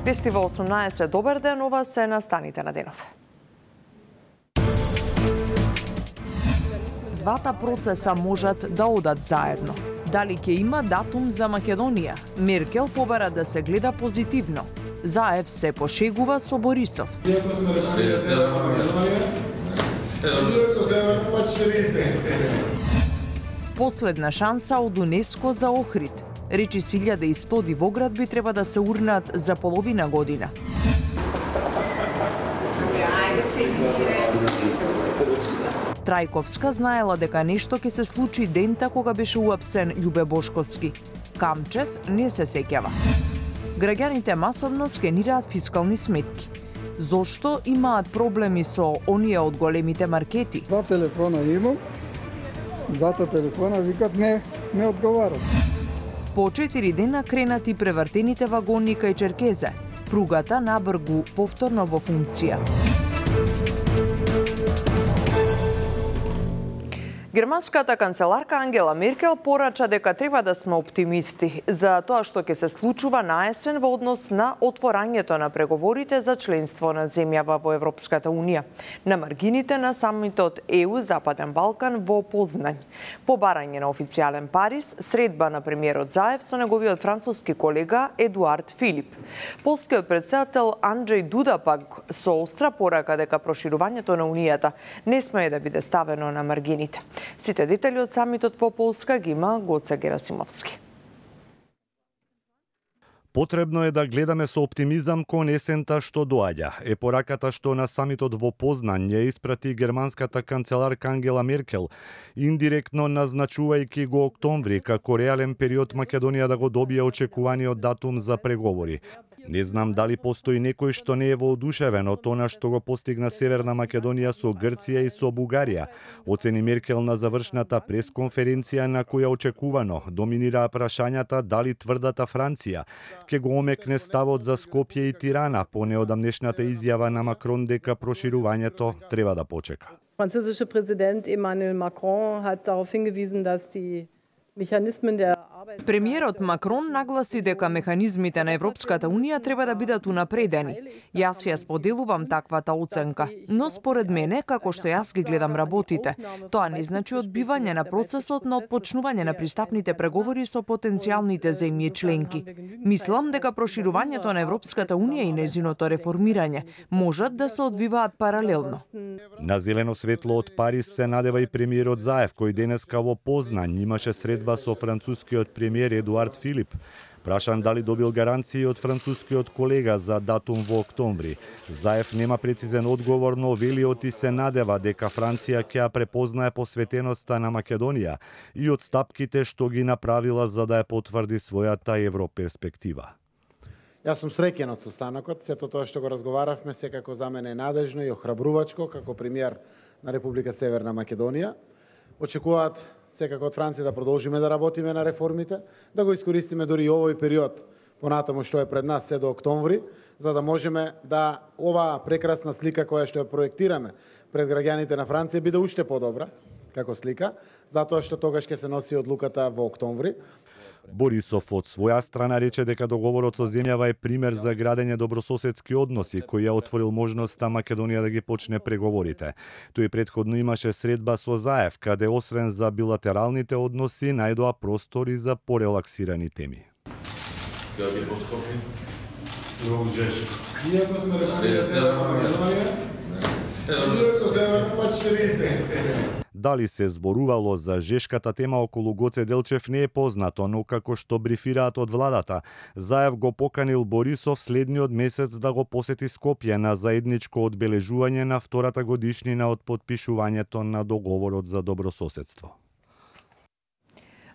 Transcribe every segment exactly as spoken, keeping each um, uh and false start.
Вести во осумнаесет, добар ден, ова се настаните на денов. Двата процеса можат да одат заедно. Дали ќе има датум за Македонија? Меркел побара да се гледа позитивно. Заев се пошегува со Борисов. Последна шанса од УНЕСКО за Охрид. Речи си илјада и сто дивоградби треба да се урнат за половина година. Трајковска знаела дека нешто ќе се случи дента кога беше уапсен Љубе Бошковски. Камчев не се сеќава. Граѓаните масовно скенираат фискални сметки. Зошто имаат проблеми со оние од големите маркети? Два телефона имам, двата телефона викат не, не одговарат. По четири дена кренати превртените вагони кај Черкезе. Пругата на Бргу повторно во функција. Германската канцеларка Ангела Меркел порача дека треба да сме оптимисти за тоа што ќе се случува на есен во однос на отворањето на преговорите за членство на земјава во Европската Унија на маргините на самитот Е У Западен Балкан во Познањ. По барање на официјален Париз, средба на премиерот Заев со неговиот француски колега Едуард Филип. Полскиот претседател Анджеј Дуда пак со остра порака дека проширувањето на Унијата не смее да биде ставено на маргините. Сите детали од самитот во Полска ги има Гоце Герасимовски. Потребно е да гледаме со оптимизам кон есента што доаѓа. Е пораката што на самитот во Познаń ја испрати германската канцеларка Ангела Меркел, индиректно назначувајќи го октомври како реален период Македонија да го добие очекуваниот датум за преговори. Не знам дали постои некој што не е воодушевен од она што го постигна Северна Македонија со Грција и со Бугарија, оцени Меркел на завршната пресконференција на која очекувано доминираа прашањата дали тврдата Франција ќе го омекне ставот за Скопје и Тирана по неодамнешната изјава на Макрон дека проширувањето треба да почека. Französische Präsident Emmanuel Macron hat darauf hingewiesen, dass die Mechanismen der Премиерот Макрон нагласи дека механизмите на Европската Унија треба да бидат унапредени. Јас ја споделувам таквата оценка, но според мене, како што јас ги гледам работите, тоа не значи одбивање на процесот на отпочнување на пристапните преговори со потенцијалните земји членки. Мислам дека проширувањето на Европската Унија и незиното реформирање можат да се одвиваат паралелно. На зелено светло од Париз се надева и премиерот Заев, кој денеска во Познаń имаше средба со францускиот премиер Едуард Филип. Прашан дали добил гаранции од францускиот колега за датум во октомври. Заев нема прецизен одговор, но велиот и се надева дека Франција ќе ја препознае посветеноста на Македонија и од стапките што ги направила за да ја потврди својата европерспектива. Јас сум среќен од состанокот, сето тоа што го разговаравме секако за мене е надежно и охрабрувачко како премиер на Република Северна Македонија. Очекуваат секако од Франција да продолжиме да работиме на реформите, да го искористиме дури и овој период понатаму што е пред нас се до октомври, за да можеме да оваа прекрасна слика која што ја проектираме пред граѓаните на Франција биде уште подобра како слика, затоа што тогаш ќе се носи одлуката во октомври. Борисов од своја страна рече дека договорот со земјава е пример за градење добрососедски односи, кој ја отворил можноста Македонија да ги почне преговорите. Тој претходно имаше средба со Заев, каде освен за билатералните односи, најдоа простори за порелаксирани теми. Иако сме Република Северна Македонија, иако се Дали се зборувало за жешката тема околу Гоце Делчев не е познато, но како што брифираат од владата, Заев го поканил Борисов следниот месец да го посети Скопје на заедничко одбележување на втората годишнина од потпишувањето на договорот за добрососедство.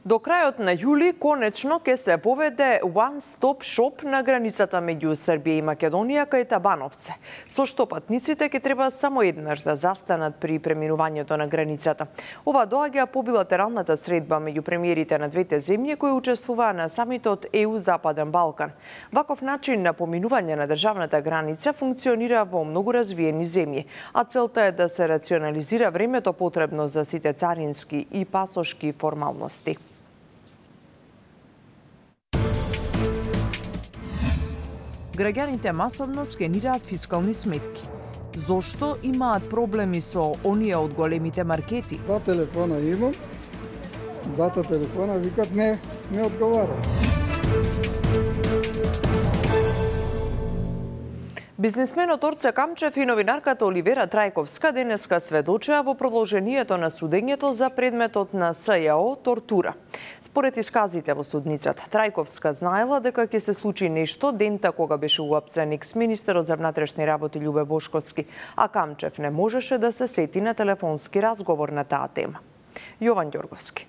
До крајот на јули конечно ќе се поведе one-stop shop на границата меѓу Србија и Македонија кај Табановце, со што патниците ќе треба само еднаш да застанат при преминувањето на границата. Ова доаѓа по билатералната средба меѓу премиерите на двете земји кои учествуваа на самитот Е У Западен Балкан. Ваков начин на поминување на државната граница функционира во многу развиени земји, а целта е да се рационализира времето потребно за сите царински и пасошки формалности. Граѓаните масовно скенираат фискални сметки. Зошто имаат проблеми со оние од големите маркети? Два телефона имам, двата телефона викат не, не одговарат. Бизнисменот Орце Камчев и новинарката Оливера Трајковска денеска сведочеа во продолжението на судењето за предметот на СЈО тортура. Според исказите во судницата, Трајковска знаела дека ќе се случи нешто дента кога беше уапсен екс-министерот за внатрешни работи Љубе Бошковски, а Камчев не можеше да се сети на телефонски разговор на таа тема. Јован Ѓорговски.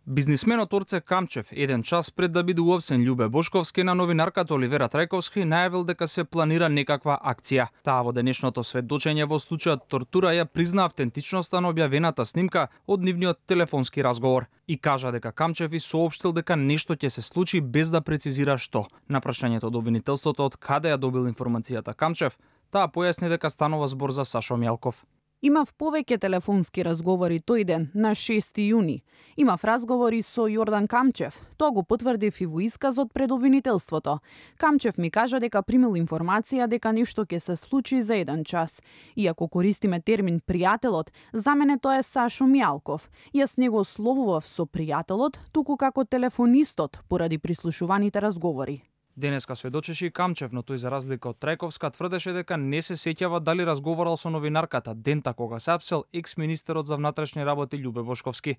Бизнисменот Орце Камчев, еден час пред да биде уапсен Љубе Бошковски, на новинарката Оливера Трајковски најавил дека се планира некаква акција. Таа во денешното сведочење во случајот тортура ја призна автентичноста на објавената снимка од нивниот телефонски разговор и кажа дека Камчев и соопштил дека нешто ќе се случи без да прецизира што. На прашањето од обвинителството од каде ја добил информацијата Камчев, таа појасни дека станува збор за Сашо Мјалков. Имав повеќе телефонски разговори тој ден, на шести јуни. Имав разговори со Јордан Камчев. Тоа го потврдив и во исказот пред обвинителството. Камчев ми кажа дека примил информација дека нешто ќе се случи за еден час. Иако користиме термин пријателот, за мене тоа е Сашо Мјалков. Јас не го словував со пријателот, туку како телефонистот, поради прислушуваните разговори. Денеска сведочеше и Камчев, но тој за разлика од Трајковска тврдеше дека не се сеќава дали разговарал со новинарката дента кога се апсел екс-министерот за внатрешни работи Љубе Бошковски.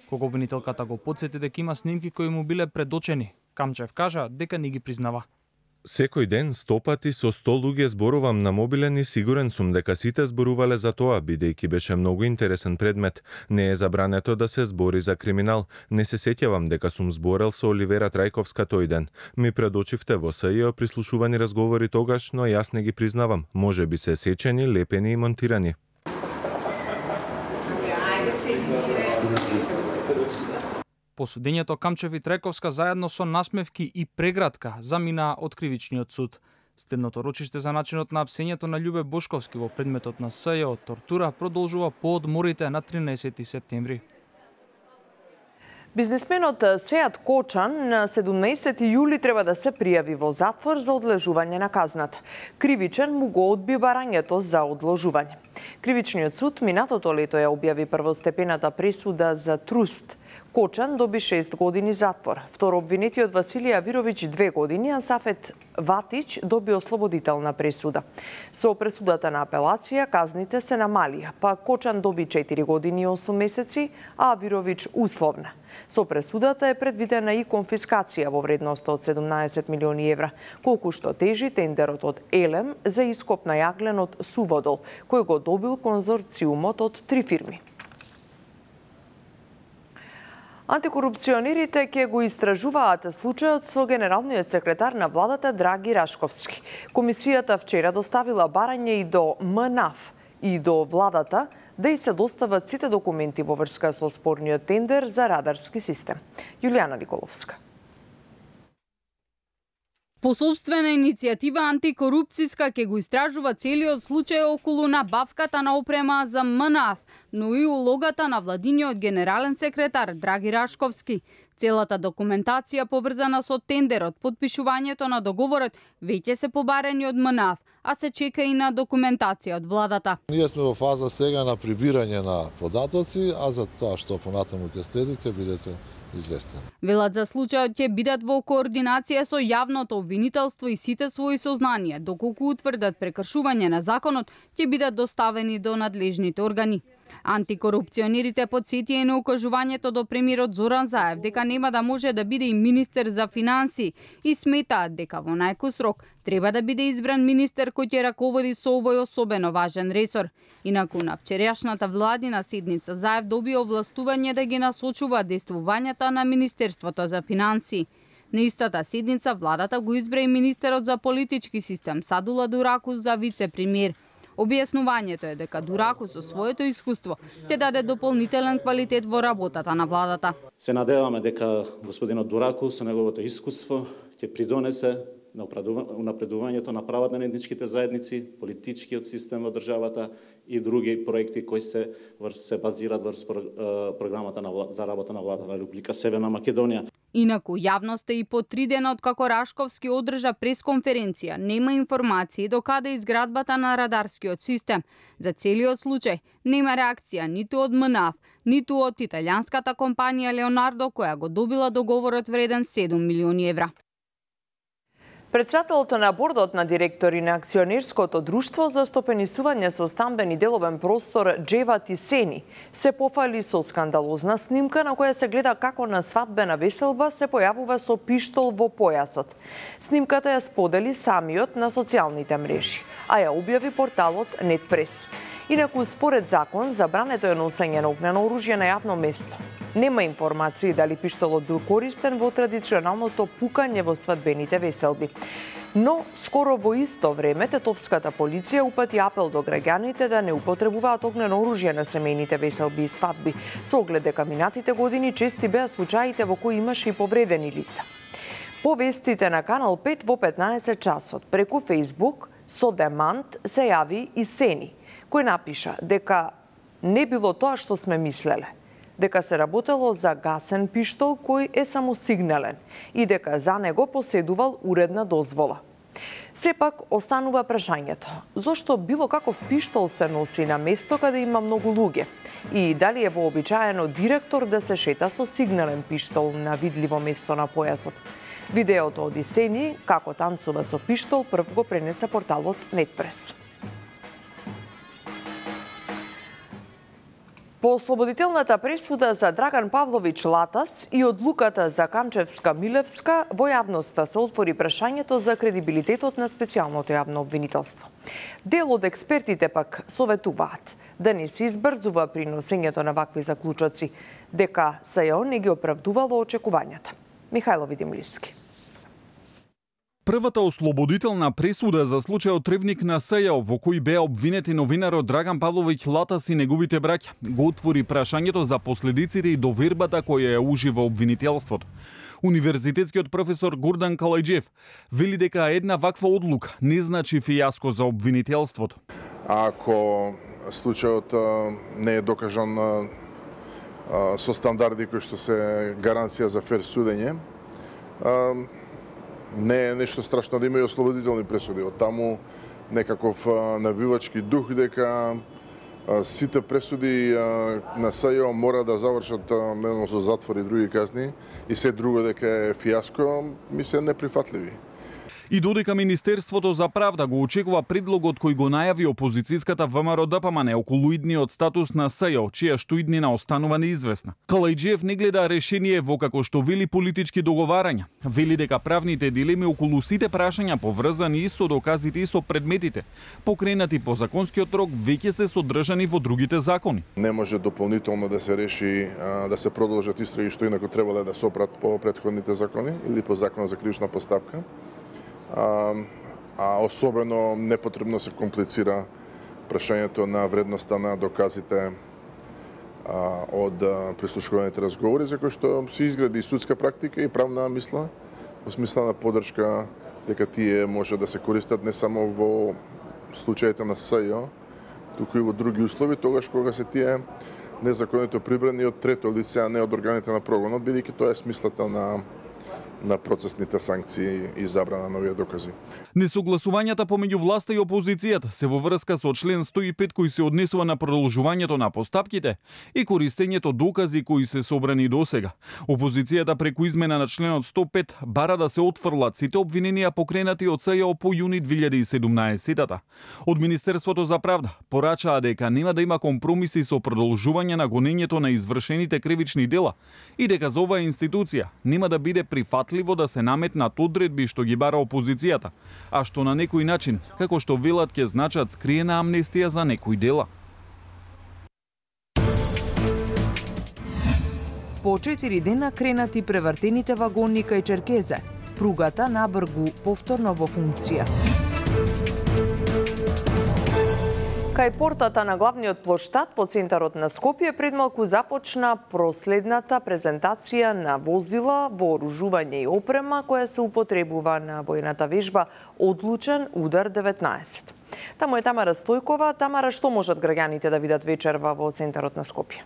Кога обвинителката го потсети дека има снимки кои му биле предочени, Камчев кажа дека не ги признава. Секој ден сто пати со сто луѓе зборувам на мобилен и сигурен сум дека сите зборувале за тоа, бидејќи беше многу интересен предмет. Не е забрането да се збори за криминал. Не се сеќавам дека сум зборел со Оливера Трајковска тој ден. Ми предочивте во СЈО прислушувани разговори тогаш, но јас не ги признавам. Може би се сечени, лепени и монтирани. По судењето Камчев и Трајковска заедно со насмевки и прегратка заминаа од кривичниот суд. Стедното рочиште за начинот на апсењето на Љубе Бошковски во предметот на СЈО тортура продолжува по одморите на тринаесети септември. Бизнисменот Сејат Кочан на седумнаесети јули треба да се пријави во затвор за одложување на казната. Кривичен му го одби барањето за одложување. Кривичниот суд минатото лето ја објави првостепената пресуда за труст. Кочан доби шест години затвор. Второ обвинетиот Василија Вировиќ две години, а Сафет Ватич доби ослободителна пресуда. Со пресудата на апелација казните се намалија, па Кочан доби четири години и осум месеци, а Вировиќ условна. Со пресудата е предвидена и конфискација во вредност од седумнаесет милиони евра, колку што тежи тендерот од Елем за ископ на јаглен од Суводол, кој го добил конзорциумот од три фирми. Антикорупционерите ќе го истражуваат случајот со генералниот секретар на владата Драги Рашковски. Комисијата вчера доставила барање и до МНАФ и до владата да и се достават сите документи во врска со спорниот тендер за радарски систем. Јулијана Николовска. По собствена иницијатива антикорупцијска ќе го истражува целиот случај околу набавката на опрема за МНАФ, но и улогата на владиниот генерален секретар Драги Рашковски. Целата документација поврзана со тендерот, подпишувањето на договорот веќе се побарени од МНАФ, а се чека и на документација од владата. Ние сме во фаза сега на прибирање на податоци, а за тоа што понатаму ќе следи ќе бидете известен. Велат за случајот ќе бидат во координација со јавното обвинителство и сите своји сознанија, доколку утврдат прекршување на законот, ќе бидат доставени до надлежните органи. Антикорупционерите подсетија и на укажувањето до премиерот Зоран Заев дека нема да може да биде и министер за финансии и сметаат дека во најкус рок треба да биде избран министер кој ќе раководи со овој особено важен ресор. Инаку на вчерашната владина седница Заев доби овластување да ги насочува действувањата на Министерството за финансии. На истата седница владата го избра и министерот за политички систем Садула Дуракус за вице-премиер. Објаснувањето е дека Дуракус со своето искуство ќе даде дополнителен квалитет во работата на владата. Се надеваме дека господинот Дуракус со неговото искуство ќе придонесе на унапредувањето на правата на етничките заедници, политичкиот систем во државата и други проекти кои се се базираат врз програмата на за работа на владата на Република Северна Македонија. Инаку јавноста и по три дена од како Рашковски одржа пресконференција, нема информации до каде изградбата на радарскиот систем. За целиот случај нема реакција ниту од М Н А Ф, ниту од италијанската компанија Леонардо, која го добила договорот вреден седум милиони евра. Председателот на бордот на директори на акционерското друштво за стопенисување со стамбен и деловен простор Джева Тисени се пофали со скандалозна снимка на која се гледа како на свадбена веселба се појавува со пиштол во појасот. Снимката ја сподели самиот на социјалните мрежи, а ја објави порталот Нетпрес. Инаку, според закон, забрането е носење на огнено оружје на јавно место. Нема информации дали пиштолот бил користен во традиционалното пукање во свадбените веселби. Но, скоро во исто време, тетовската полиција упати апел до граѓаните да не употребуваат огнено оружје на семејните веселби и свадби, со оглед дека минатите години чести беа случаите во кои имаше и повредени лица. По вестите на Канал пет во петнаесет часот, преку Фејсбук, со демант се јави и Сени, кој напиша дека не било тоа што сме мислеле, дека се работело за гасен пиштол кој е само сигнален и дека за него поседувал уредна дозвола. Сепак останува прашањето, зошто било каков пиштол се носи на место каде има многу луѓе и дали е вообичаено директор да се шета со сигнален пиштол на видливо место на појасот. Видеото од Исени, како танцува со пиштол, прв го пренесе порталот Нетпрес. По ослободителната пресуда за Драган Павлович Латас и одлуката за Камчевска-Милевска, во јавноста се отвори прашањето за кредибилитетот на специјалното јавно обвинителство. Дел од експертите пак советуваат да не се избрзува при носењето на вакви заклучоци, дека СЈО не ги оправдувало очекувањата. Михајло Видимлиски. Првата ослободителна пресуда за случајот Тревник на СЈО, во кој беа обвинети новинарот Драган Павлович Латас и неговите браќа, го отвори прашањето за последиците и довербата која ја ужива обвинителството. Универзитетскиот професор Гордан Калајџиев вели дека една ваква одлука не значи фијаско за обвинителството. Ако случајот не е докажан со стандарди кои што се гаранција за фер судење, не е нешто страшно да има и ослободителни пресуди. Од таму некаков навивачки дух дека сите пресуди на СЈО мора да завршат со затвор и други казни и се друго дека е фијаско, ми се неприфатливи. И додека Министерството за правда го очекува предлогот кој го најави опозицијската ВМРО Д П М Н околу идниот статус на СЈО, чија што иднина останува неизвестна. Калајџиев не гледа решение во како што вели политички договарања. Вели дека правните дилеми околу сите прашања поврзани и со доказите и со предметите, покренати по законскиот рок, веќе се содржани во другите закони. Не може дополнително да се реши да се продолжат истраги што инаку требале да се опрат по претходните закони или по Законот за кривична постапка. А, а особено непотребно се комплицира прашањето на вредноста на доказите а, од прислушуваните разговори, за кои што се изгради судска практика и правна мисла, во смисла на поддршка дека тие може да се користат не само во случаите на СЈО, туку и во други услови, тогаш кога се тие незаконито прибрани од трето лице, а не од органите на прогонот, бидејќи тоа е смислата на на процесните санкции и забрана на овие докази. Несогласувањата помеѓу власта и опозицијата се во врска со член сто и пет кој се однесува на продолжувањето на постапките и користењето докази кои се собрани досега. Опозицијата преку измена на членот сто и пет бара да се отфрлат сите обвиненија покренати од СЈО по јуни две илјади и седумнаесета. Од Министерството за правда порачаа дека нема да има компромиси со продолжување на гонењето на извршените кривични дела и дека за оваа институција нема да биде прифатливо да се наметнат одредби што ги бара опозицијата, а што на некој начин, како што велат, ќе значат скриена амнестија за некои дела. По четири дена кренати превртените вагони кај Черкезе. Пругата на Бргу повторно во функција. Кај портата на главниот плоштад во центарот на Скопје предмалку започна проследната презентација на возила, вооружување и опрема која се употребува на војната вежба Одлучен удар деветнаесет. Таму е Тамара Стојкова. Тамара, што можат граѓаните да видат вечерва во центарот на Скопје?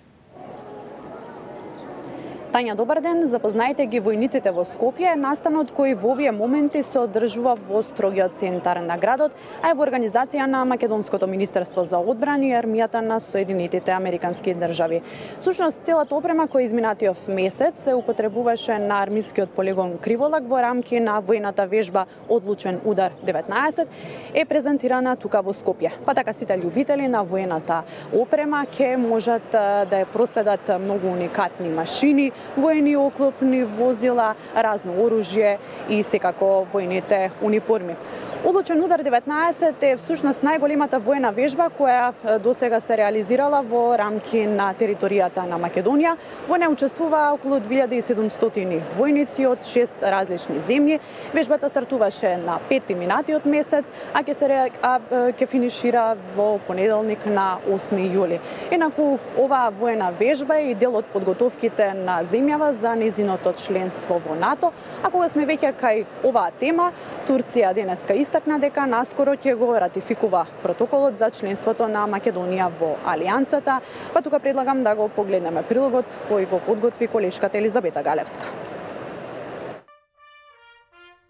Тања, добар ден. Запознајте ги војниците во Скопје, настанот кој во овие моменти се одржува во строгиот центар на градот, а е во организација на Македонското министерство за одбрана и армијата на Соединетите американски држави. Всушност, целата опрема која изминатиот месец се употребуваше на армискиот полигон Криволак во рамки на војната вежба Одлучен удар деветнаесет е презентирана тука во Скопје. Па така сите љубители на војната опрема ќе можат да ја проследат многу уникатни машини, војни оклопни возила, разно оружје и секако војните униформи. Одлучен удар деветнаесет е всушност најголемата војна вежба која досега се реализирала во рамки на територијата на Македонија. Во неја учествуваа околу две илјади и седумстотини војници од шест различни земји. Вежбата стартуваше на пети минатиот месец, а ќе се а, ќе финишира во понеделник на осми јули. Енаку оваа војна вежба е и дел од подготовките на земјава за нејзиното членство во НАТО. А кога сме веќе кај оваа тема, Турција денеска истакна дека наскоро ќе го ратификува протоколот за членството на Македонија во Алијансата, па тука предлагам да го погледнеме прилогот кој го подготви колешката Елизабета Галевска.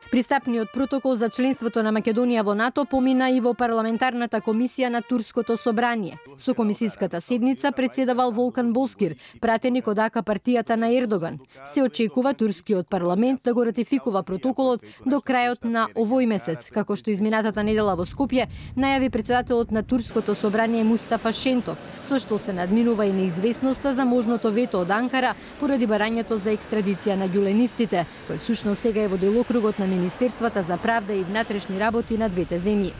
Пристапниот протокол за членството на Македонија во НАТО помина и во парламентарната комисија на Турското собрание. Со комисиската седница председавал Волкан Боскир, пратеник од АК партијата на Ердоган. Се очекува турскиот парламент да го ратификува протоколот до крајот на овој месец, како што изминатата недела во Скопје најави председателот на Турското собрание Мустафа Шентов, со што се надминува и неизвестноста за можното вето од Анкара поради барањето за екстрадиција на ѓуленистите, кој всушност сега е во делокругот на Министерствата за правда и внатрешни работи на двете земји.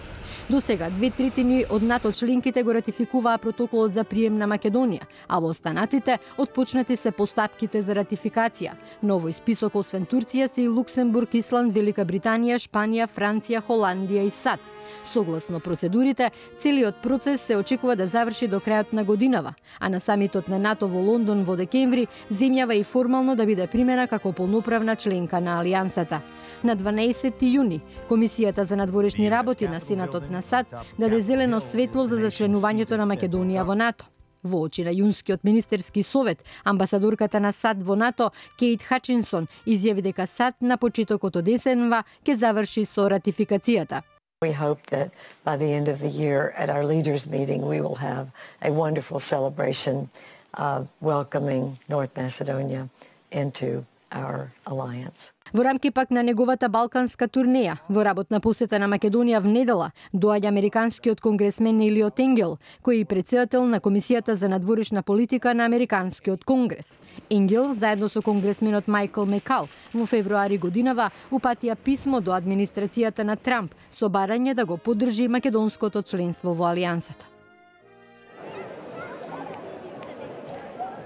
До сега, две третини од НАТО членките го ратификуваа протоколот за прием на Македонија, а во останатите отпочнати се постапките за ратификација. На овој список освен Турција се и Луксембург, Исланд, Велика Британија, Шпанија, Франција, Холандија и САД. Согласно процедурите, целиот процес се очекува да заврши до крајот на годинава, а на самитот на НАТО во Лондон во декември земјава и формално да биде примена како полноправна членка на Алијансата. На дванаесети јуни, Комисијата за надворешни работи на Сенатот на САД даде зелено светло за зачленувањето на Македонија во НАТО. Во очи на јунскиот министерски совет, амбасадорката на САД во НАТО, Кейт Хачинсон, изјави дека САД на почетокот од есенва ќе заврши со ратификацијата. We hope that by the end of the year at our leaders meeting we will have a wonderful celebration of welcoming North Macedonia into our alliance. Во рамки пак на неговата балканска турнеја, во работна посета на Македонија внедела, доаѓа американскиот конгресмен Елиот Енгел, кој е председател на Комисијата за надворешна политика на Американскиот конгрес. Енгел, заедно со конгресменот Мајкл Мекал, во февруари годинава упатија писмо до администрацијата на Трамп со барање да го поддржи македонското членство во Алијансата.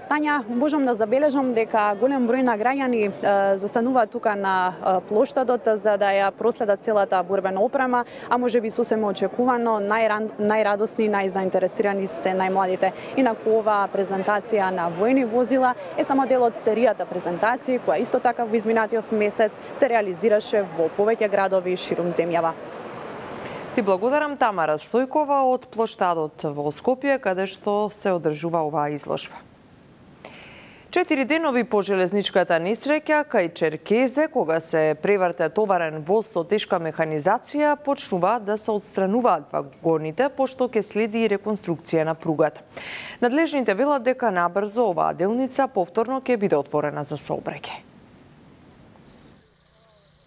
Тања, можам да забележам дека голем број на граѓани е, застануваат тука на е, плоштадот за да ја проследат целата борбена опрема, а може би сосема очекувано најрадосни, најзаинтересирани се најмладите. Инаку ова презентација на војни возила е само дел од серијата презентации која исто така во изминатиот месец се реализираше во повеќе градови ширум земјава. Ти благодарам, Тамара Стојкова од плоштадот во Скопје, каде што се одржува оваа изложба. Четири денови по железничката несреќа кај Черкезе, кога се преврте товарен воз со тешка механизација, почнуваат да се отстрануваат вагоните, пошто ќе следи и реконструкција на пругата. Надлежните велат дека набрзо оваа делница повторно ќе биде отворена за сообраќај.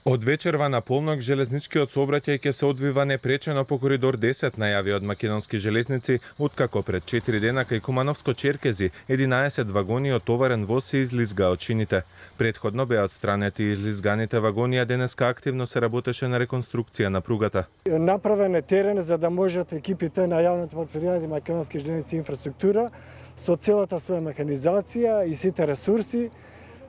Од вечерва на полнок железничкиот сообраќај ќе се одвива непречено по коридор десет, најави од македонски железници, откако пред четири дена кај Кумановско Черкези единаесет вагони од товарен воз се излизга од чините. Предходно беа отстранети излизганите вагони, а денеска активно се работеше на реконструкција на пругата. Направен е терен за да можат екипите на јавното претпријатие Македонски железници инфраструктура со целата своја механизација и сите ресурси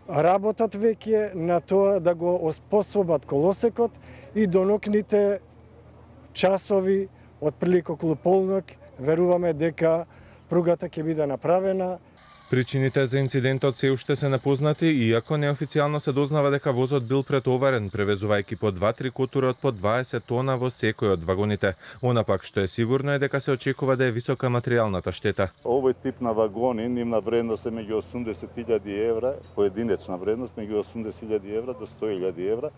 работат веќе на тоа да го оспособат колосекот и до нокните часови од прилика околу полнок веруваме дека пругата ќе биде направена. Причините за инцидентот се уште се непознати, иако неофицијално се дознава дека возот бил претоварен, превезувајќи по два-три котури од по дваесет тона во секој од вагоните. Она пак што е сигурно е дека се очекува да е висока материјалната штета. Овој тип на вагони, нивна вредност е меѓу осумдесет илјади евра, поединечна вредност меѓу осумдесет илјади евра до сто илјади евра,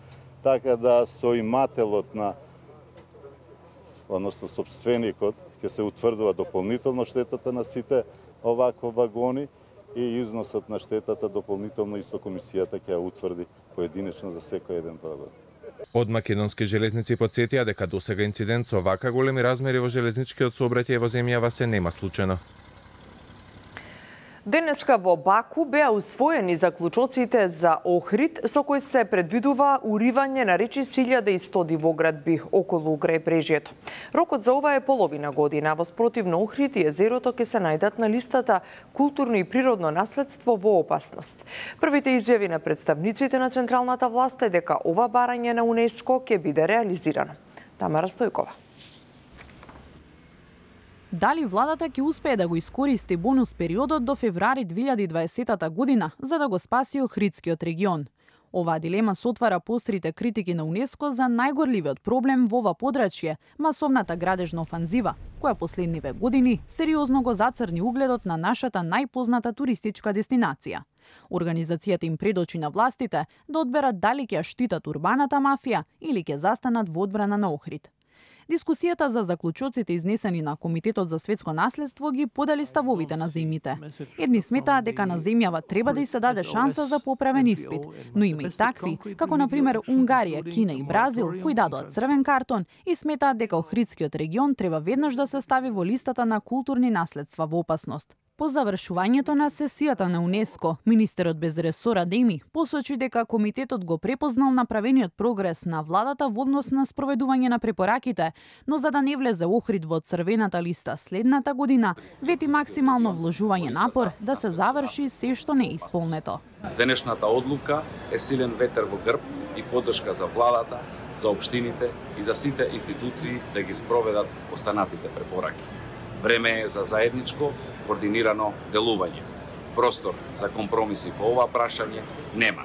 така да со имателот на, односно собственикот, ќе се утврдува дополнително штетата на сите овакви вагони и износот на штетата дополнително исто комисијата ќе ја утврди поединечно за секој еден вагон. Од македонски железници потсетија дека досега инцидент со вака големи размери во железничкиот сообраќај во земјава се нема случено. Денеска во Баку беа усвоени заклучоците за Охрид, со кои се предвидува уривање на речиси илјада и сто дивоградби околу крајбрежјето. Рокот за ова е половина година, во спротивно Охрид и езерото ќе се најдат на листата културно и природно наследство во опасност. Првите изјави на представниците на централната власт е дека ова барање на УНЕСКО ќе биде реализирано. Тамара Стојкова. Дали владата ќе успее да го искористи бонус периодот до февруари две илјади и дваесета година за да го спаси Охридскиот регион? Оваа дилема се отвара пострите критики на УНЕСКО за најгорливиот проблем во ова подрачје, масовната градежна офанзива, која последниве години сериозно го зацрни угледот на нашата најпозната туристичка дестинација. Организацијата им предочи на властите да одберат дали ќе ја штитат урбаната мафија или ќе застанат во одбрана на Охрид. Дискусијата за заклучоците изнесени на Комитетот за светско наследство ги подели ставовите на земјите. Едни сметаат дека на земјава треба да й се даде шанса за поправен испит, но има и такви, како на пример Унгарија, Кина и Бразил, кои дадоа црвен картон и сметаат дека Охридскиот регион треба веднаш да се стави во листата на културни наследства во опасност. По завршувањето на сесијата на УНЕСКО, министерот без ресор Адеми посочи дека комитетот го препознал направениот прогрес на владата во однос на спроведување на препораките, но за да не влезе Охрид во црвената листа следната година, вети максимално вложување напор да се заврши се што не е исполнето. Денешната одлука е силен ветер во грб и поддршка за владата, за општините и за сите институции да ги спроведат останатите препораки. Време е за заедничко, координирано делување. Простор за компромиси по ова прашање нема.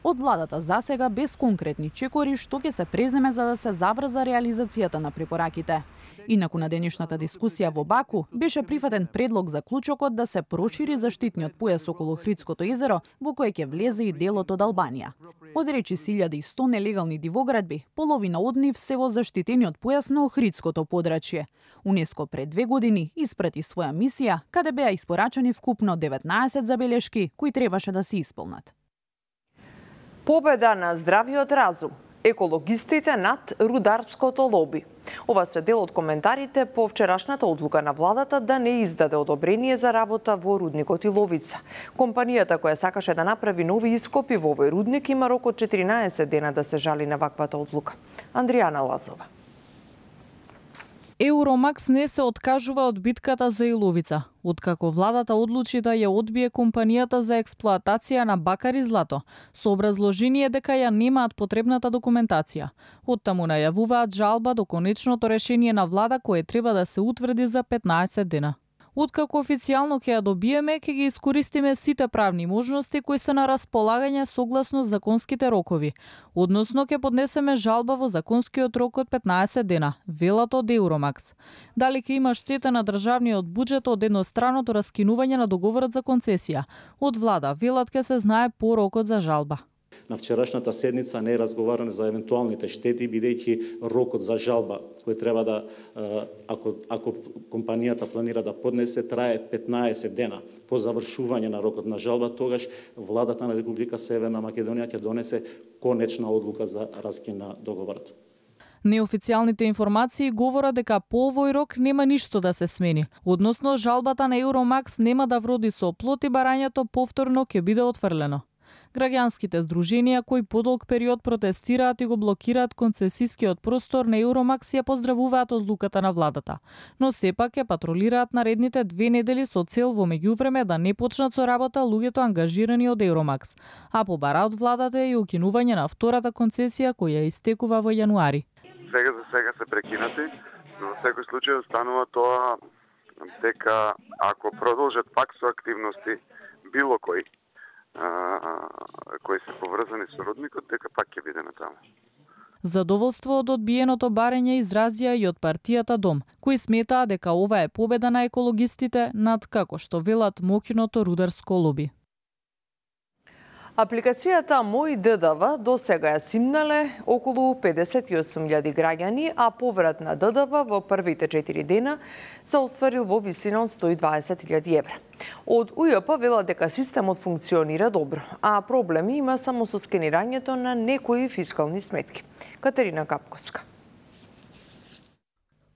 Од владата засега без конкретни чекори што ќе се преземе за да се забрза реализацијата на препораките. Инаку на денешната дискусија во Баку беше прифатен предлог за клучокот да се прошири заштитниот појас околу Охридското езеро, во кој ќе влезе и делот од Албанија. Од речиси илјада и сто нелегални дивоградби, половина од нив се во заштитениот појас на Охридското подрачје. УНЕСКО пред две години испрати своја мисија, каде беа испорачани вкупно деветнаесет забелешки кои требаше да се исполнат. Победа на здравиот разум. Екологистите над рударското лоби. Ова се дел од коментарите по вчерашната одлука на владата да не издаде одобрение за работа во рудникот Иловица. Компанијата која сакаше да направи нови ископи во овој рудник има рок од четиринаесет дена да се жали на ваквата одлука. Андријана Лазова. Еуромакс не се откажува од битката за Иловица, откако владата одлучи да ја одбие компанијата за експлоатација на бакар и злато, со образложение дека ја немаат потребната документација. Оттаму најавуваат жалба до конечното решение на влада кое треба да се утврди за петнаесет дена. Откако официјално ќе ја добиеме, ќе ги искористиме сите правни можности кои се на располагање согласно законските рокови. Односно ќе поднесеме жалба во законскиот рок од петнаесет дена, велат од Еуромакс. Дали ќе има штета на државниот буџет од едностраното раскинување на договорот за концесија? Од влада велат ќе се знае по рокот за жалба. На вчерашната седница не е разговарано за евентуалните штети, бидејќи рокот за жалба кој треба да, ако, ако компанијата планира да поднесе, трае петнаесет дена. По завршување на рокот на жалба, тогаш владата на Република Северна Македонија ќе донесе конечна одлука за раскин на договорот. Неофицијалните информации говорат дека по овој рок нема ништо да се смени. Односно, жалбата на Еуромакс нема да вроди со плод и барањето повторно ќе биде отфрлено. Граѓанските здруженија кои подолг период протестираат и го блокираат концесискиот простор на Еуромакс ја поздравуваат одлуката на владата, но сепак ја патролираат наредните две недели со цел во меѓувреме да не почнат со работа луѓето ангажирани од Еуромакс, а побара од владата и укинување на втората концесија која истекува во јануари. Сега за сега се прекинати, но во секој случај останува тоа дека ако продолжат пак со активности било кој а, кои се поврзани со родникот, дека пак ќе бидеме таму. Задоволство од одбиеното барење изразија и од партијата Дом, кои сметаа дека ова е победа на екологистите над, како што велат, моќното рударско лоби. Апликацијата Мој ДДВ до сега ја симнале околу педесет и осум илјади граѓани, а поврат на ДДВ во првите четири дена се остварил во висина од сто и дваесет илјади евра. Од УЈП велат дека системот функционира добро, а проблеми има само со скенирањето на некои фискални сметки. Катерина Капковска.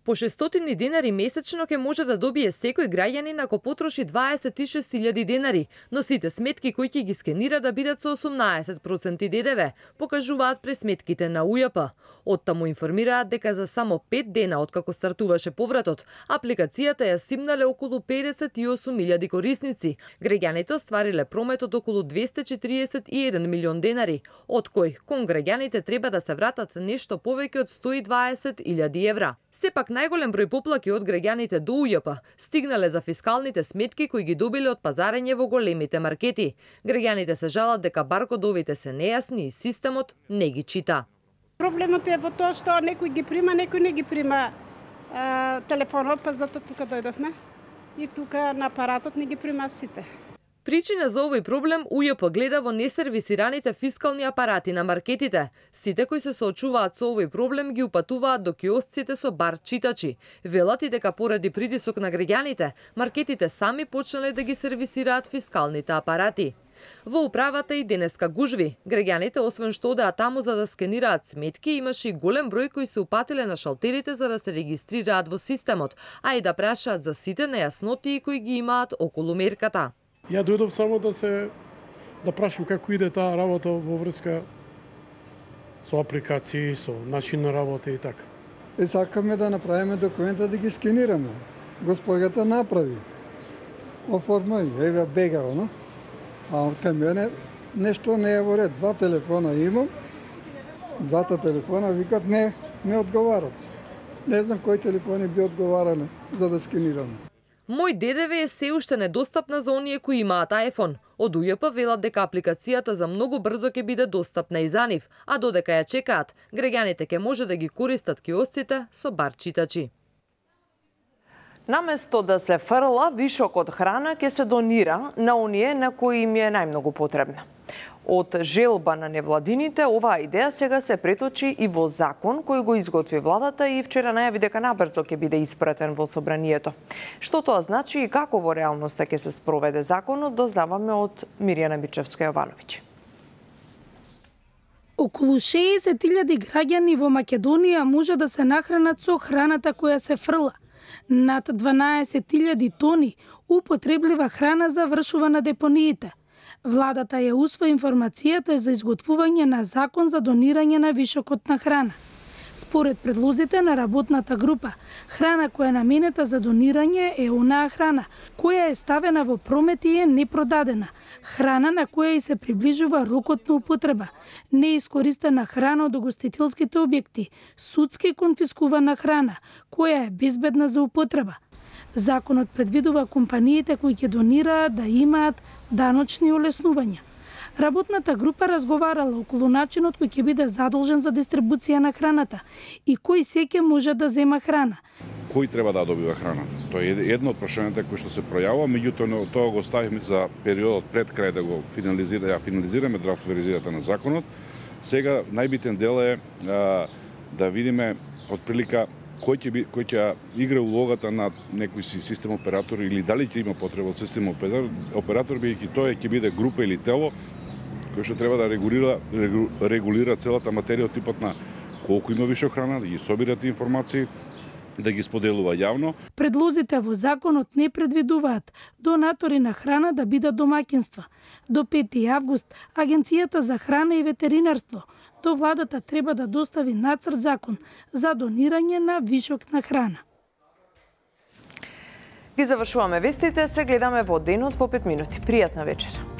По шестстотини денари месечно ќе може да добие секој граѓанин ако потроши дваесет и шест илјади денари, но сите сметки кои ќе ги скенира да бидат со осумнаесет проценти ДДВ, покажуваат пресметките на УЈП. Оттаму информираат дека за само пет дена откако стартуваше повратот, апликацијата ја симнале околу педесет и осум илјади корисници. Граѓаните оствариле промет од околу двесте и четириесет и еден милион денари, од кој кон граѓаните треба да се вратат нешто повеќе од сто и дваесет илјади евра. Сепак најголем број поплаки од граѓаните до УЈП стигнале за фискалните сметки кои ги добиле од пазарење во големите маркети. Граѓаните се жалат дека баркодовите се нејасни и системот не ги чита. Проблемот е во тоа што некој ги прима, некој не ги прима е, телефонот, па затоа тука дојдовме. И тука на апаратот не ги прима сите. Причина за овој проблем УЈП гледа во несервисираните фискални апарати на маркетите. Сите кои се соочуваат со овој проблем ги упатуваат до киосците со бар читачи. Велат и дека поради притисок на граѓаните, маркетите сами почнале да ги сервисираат фискалните апарати. Во управата и денеска гужви. Граѓаните, освен што одеа таму за да скенираат сметки, имаше и голем број кои се упатиле на шалтерите за да се регистрираат во системот, а и да прашаат за сите нејаснотии кои ги имаат околу мерката. Ја дојдов само да се да прашам како иде таа работа во врска со апликации, со начин на работа и така. Е, сакаме да направиме документа да ги скенираме. Господјата направи. Оформи, еве бегава, но? А кај мене нешто не е во ред. Два телефона имам, двата телефона викат не, не одговарат. Не знам кои телефони би одговарале за да скенираме. Мој ДДВ е се уште недостапна за оние кои имаат iPhone. Од УЈП велат дека апликацијата за многу брзо ќе биде достапна и за нив, а додека ја чекаат, граѓаните ќе може да ги користат киосците со бар читачи. Наместо да се фрла, вишок од храна ќе се донира на оние на кои им е најмногу потребна. Од желба на невладините, оваа идеја сега се преточи и во закон кој го изготви владата и вчера најави дека набрзо ќе биде испратен во собранието. Што тоа значи и како во реалноста ќе се спроведе законот, дознаваме од Мирјана Бичевска-Јовановиќ. Околу шеесет илјади граѓани во Македонија може да се нахранат со храната која се фрла. Над дванаесет илјади тони употреблива храна завршува на депониите. Владата ја усвои информацијата за изготвување на закон за донирање на вишокот на храна. Според предлозите на работната група, храна која е наменета за донирање е онаа храна која е ставена во промет и е непродадена, храна на која и се приближува рокот на употреба, неискористена храна од угостителските објекти, судски конфискувана храна која е безбедна за употреба. Законот предвидува компаниите кои ќе донираат да имаат даночни олеснувања. Работната група разговарала околу начинот кој ќе биде задолжен за дистрибуција на храната и кој секој може да зема храна. Кој треба да добива храната? Тоа е едно од прашањата кои што се пројавува, меѓутоа тоа го ставивме за периодот пред крај да го финализира, ја финализираме драфт верзијата на законот. Сега најбитен дел е а, да видиме отприлика кој ќе би, кој ќе игра улогата на некој си систем оператор или дали ќе има потреба од систем оператор, оператор бидејќи тоа ќе биде група или тело кој што треба да регулира регулира целата материја од типот на колку има више храна, да ги собира тие информации, да ги споделува јавно. Предлозите во законот не предвидуваат донатори на храна да бидат домаќинства. До пети август Агенцијата за храна и ветеринарство до владата треба да достави нацрт закон за донирање на вишок на храна. Ги завршуваме вестите, се гледаме во денот во пет минути. Пријатна вечер.